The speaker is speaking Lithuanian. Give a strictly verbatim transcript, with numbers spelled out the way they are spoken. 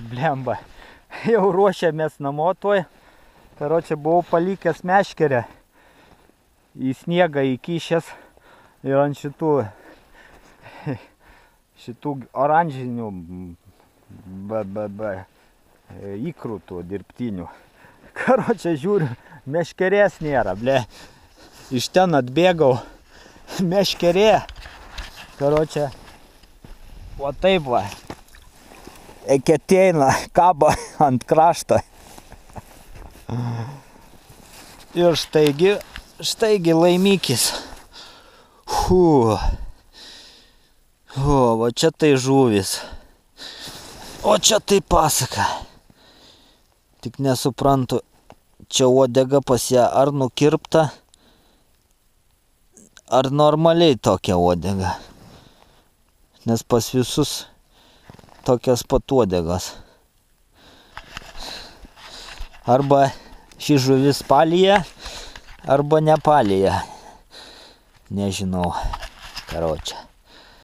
Blemba. Jau ruošiamės namo tuoj. Karočią buvau palikęs meškerę į sniegą įkišęs ir ant šitų šitų oranžinių b, b, b, įkrūtų dirbtinių. Karočią žiūriu, meškerės nėra, ble. Iš ten atbėgau, meškerė. Karočią, o taip va, eketeina, kaba ant krašto. Ir štaigi, štaigi laimikis. Hu. O, va čia tai žuvis. O čia tai pasaka. Tik nesuprantu, čia uodega pas ją ar nukirpta, ar normaliai tokia uodega. Nes pas visus tokias pat uodegas. Arba ši žuvis palija, arba nepalija. Nežinau, karočią.